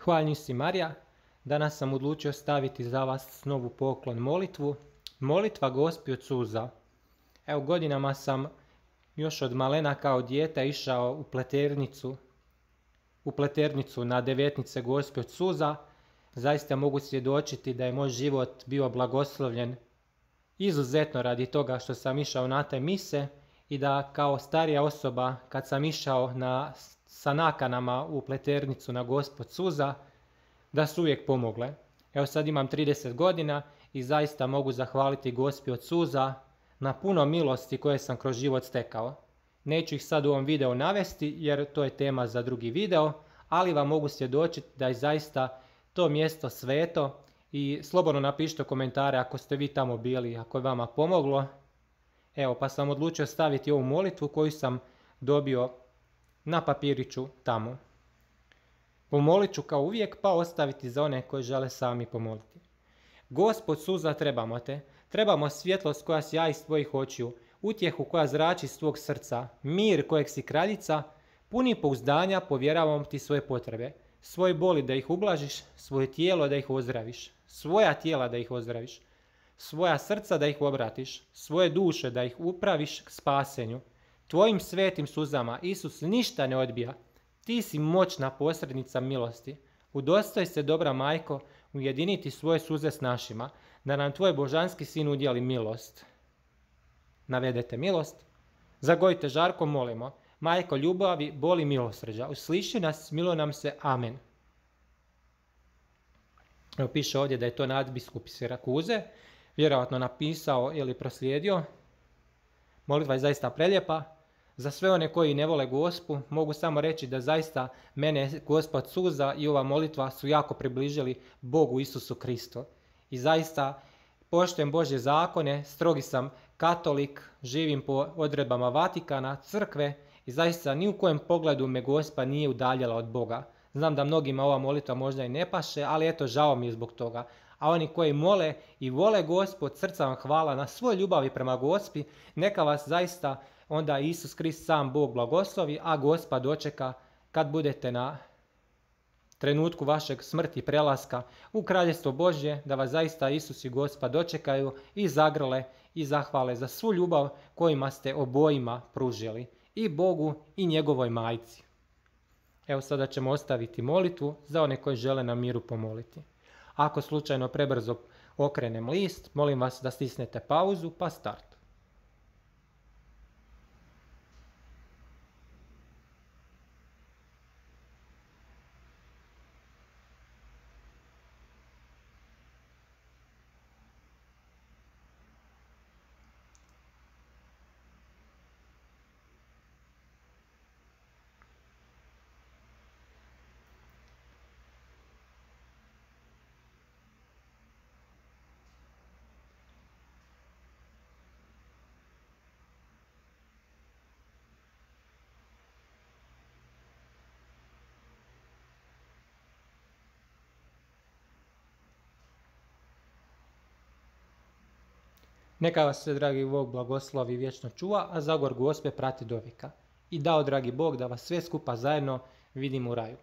Hvaljen si Marija, danas sam odlučio staviti za vas novu poklon molitvu, molitva Gospi od suza. Evo, godinama sam još od malena kao dijete išao u Pleternicu na devetnice Gospe od suza. Zaista mogu svjedočiti da je moj život bio blagoslovljen izuzetno radi toga što sam išao na te mise i da kao starija osoba kad sam išao sa nakanama u Pleternicu na Gospu od suza, da su uvijek pomogle. Evo, sad imam 30 godina i zaista mogu zahvaliti Gospi od suza na puno milosti koje sam kroz život stekao. Neću ih sad u ovom videu navesti jer to je tema za drugi video, ali vam mogu svjedočiti da je zaista to mjesto sveto i slobodno napišite komentare ako ste vi tamo bili, ako je vama pomoglo. Evo, pa sam odlučio staviti ovu molitvu koju sam dobio na papiriću tamo. Pomolit ću kao uvijek, pa ostaviti za one koji žele sami pomoliti. Gospod suza, trebamo te, trebamo svjetlost koja sjaji iz tvojih očiju, utjehu koja zrači iz tvog srca, mir kojeg si kraljica, puni pouzdanja povjeravam ti svoje potrebe, svoje boli da ih ublažiš, svoje tijelo da ih ozdraviš, svoja tijela da ih ozdraviš, svoja srca da ih obratiš, svoje duše da ih upraviš k spasenju. Tvojim svetim suzama Isus ništa ne odbija. Ti si moćna posrednica milosti. Udostoj se, dobra majko, ujediniti svoje suze s našima, da nam tvoj božanski sin udjeli milost. Navedete milost. Zagojite žarko, molimo. Majko ljubavi, boli milosrđa. Usliši nas, miluj nam se. Amen. Evo, piše ovdje da je to nadbiskup iz Sirakuze, vjerojatno napisao ili proslijedio. Molitva je zaista prelijepa. Za sve one koji ne vole Gospu, mogu samo reći da zaista mene Gospa od suza i ova molitva su jako približili Bogu Isusu Kristu. I zaista poštujem Božje zakone, strogi sam katolik, živim po odredbama Vatikana, crkve i zaista ni u kojem pogledu me Gospa nije udaljila od Boga. Znam da mnogima ova molitva možda i ne paše, ali eto, žao mi je zbog toga. A oni koji mole i vole Gospu, od srca vam hvala na svoj ljubavi prema Gospi, neka vas zaista onda Isus Krist sam Bog blagoslovi, a Gospa dočeka kad budete na trenutku vašeg smrti prelaska u Kraljestvo Božje, da vas zaista Isus i Gospa dočekaju i zagrle i zahvale za svu ljubav kojima ste obojima pružili, i Bogu i njegovoj majci. Evo, sada ćemo ostaviti molitvu za one koji žele na miru pomoliti. Ako slučajno prebrzo okrenem list, molim vas da stisnete pauzu pa start. Neka vas sve, dragi Bog, blagoslovi i vječno čuva, a zagor Gospe prati do vijeka. I dao, dragi Bog, da vas sve skupa zajedno vidimo u raju.